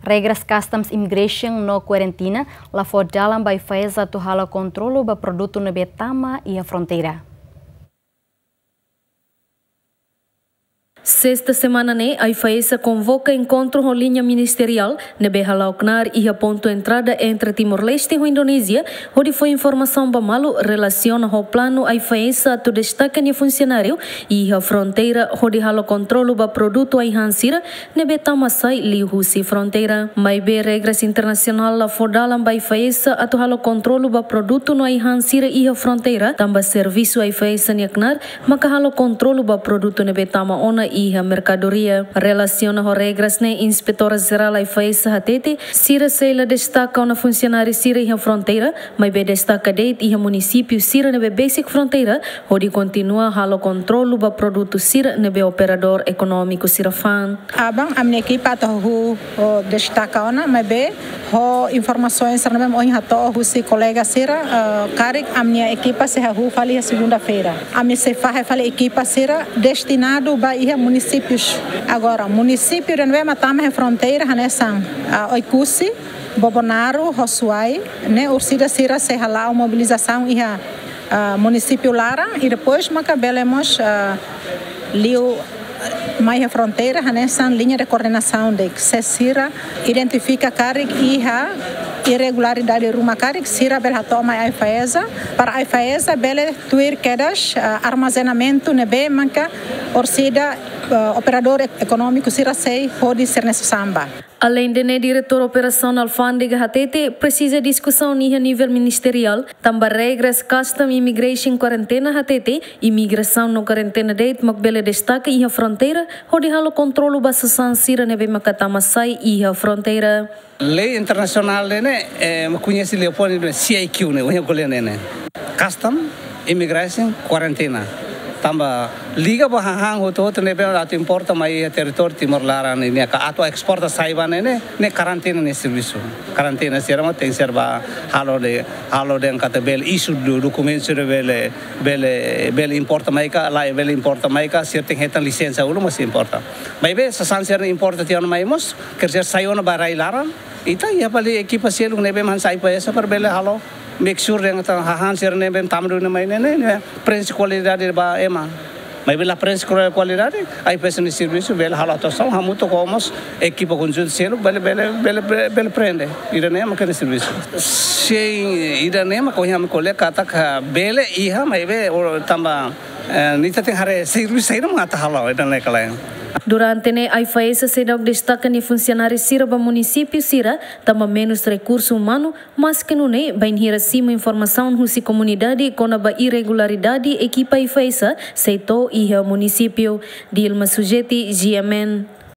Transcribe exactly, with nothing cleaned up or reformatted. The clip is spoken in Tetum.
Regras Customs, Immigration no Kuarentina la fó dalan ba AIFAESA atu halo kontrolu ba produtu ne'ebé tama iha fronteira. Sesta semana ne'e, AIFAESA konvoka enkontru ho liña ministeriál ne'ebé hala'o knaar iha pontu entrada entre Timor-Leste ho Indonézia, hodi fó informasaun ba malu relasiona ho planu AIFAESA atu destaka nia funsionáriu iha fronteira hodi halo kontrolu ba produtu ai-han sira ne'ebé tama sai liuhusi fronteira. Maibé regras internasionál la fó dalan ba AIFAESA atu halo kontrolu ba produtu no ai-han sira iha fronteira, tanba servisu AIFAESA nia knaar maka halo kontrolu ba produtu ne'ebé tama ona iha merkadoria. Relasiona ho regras ne'e, Inspetora Jerál AIFAESA hatete, sira sei la destaka ona funsionáriu sira iha fronteira, maibé destaka de'it iha munisípiu sira ne'ebé besik fronteira, hodi kontinua halo kontrolu ba produtu sira ne'ebé operadór ekonómiku sira fa'an. Aban, ami-nia ekipa atu hahú, oh, destaka ona, maibé ho informasaun sira ne'ebé ohin hato'o husi kolega sira, eh, karik ami-nia ekipa sei hahú fali iha segunda-feira. Ami sei fahe fali ekipa sira destinadu ba iha munisípius. Agora, munisípiu ida ne'ebé mak tama iha fronteira hanesan, ah, Oekusi, Bobonaro, ho Suai, ne'e orsida sira sei hala'o mobilizasaun iha, ah, munisípiu laran, i depois maka bele mós, ah, liu mai iha fronteira, hanesan liña de koordenasaun de'it, se sira identifika karik iha irregularidade ruma karik, sira bele hato'o mai AIFAESA, para AIFAESA bele tuir kedas, ah, armazenamentu ne'ebé maka orsida, ah, operadór ek-, ekonómiku sira sei hodi sira-nia sasán ba. Aleinde ne'e, Diretór Operasaun Alfándega hatete, presiza diskusaun iha nivel ministeriál, tanba regras Customs, Immigration, Kuarentena hatete, imigrasaun no kuarentena de'it mak bele destaka iha fronteira, hodi halo kontrolu ba sasán sira ne'ebé maka tama sai iha fronteira. Lei internasionál ne'e, eh, koñese liafuan ne'e C I Q ne'e, ohin ko'alia ne'e. Custom, Immigration, Kuarentena. Tanba liga ba hahán hotu-hotu ne'ebé atu importa mai iha territóriu Timor laran ne'e, ka atu esporta sai ba ne'e, ne'e, ne'e kuarentena nia servisu. Kuarentena sira mak tenke ser ba halo de'it, halo de'it katak bele isu do-, dokumentu sira bele, bele, bele importa mai ka, lae bele importa mai ka, sira tenke hetan lisensa uluk mak sei importa. Maibé sasán sira ne'e importa tiha ona mai mós, kerser sai ona ba rai laran, ita iha fali ekipa seluk ne'ebé mak hanesan AIFAESA para bele halo make sure dehan katak hahán sira ne'ebé tama duni mai ne'e, ne'e, ne'e, prenxe kualidade ba ema. Maibé la prenxe kuali-, kualidade, AIFAESA nia servisu bele halo atuasaun, hamutuk ho mós ekipa konjuntu seluk, bele, bele, bele, bele, bele prende. Ida-ne'e mak nia servisu. Sin, ida-ne'e mak ohin ami ko'alia katak bele iha, maibé, o, tanba, eh, ita tenke haree servisu saida mak atu halo, ida-ne'e ka lae. Durante ne'e, AIFAESA seidauk destaka nia funsionáriu sira ba munisípiu sira, tanba menus rekursu umanu, maske nune'e, bainhira simu informasaun husi komunidade kona-ba irregularidade, ekipa AIFAESA sei to'o iha munisípiu. Dilma Sujeti, G M N.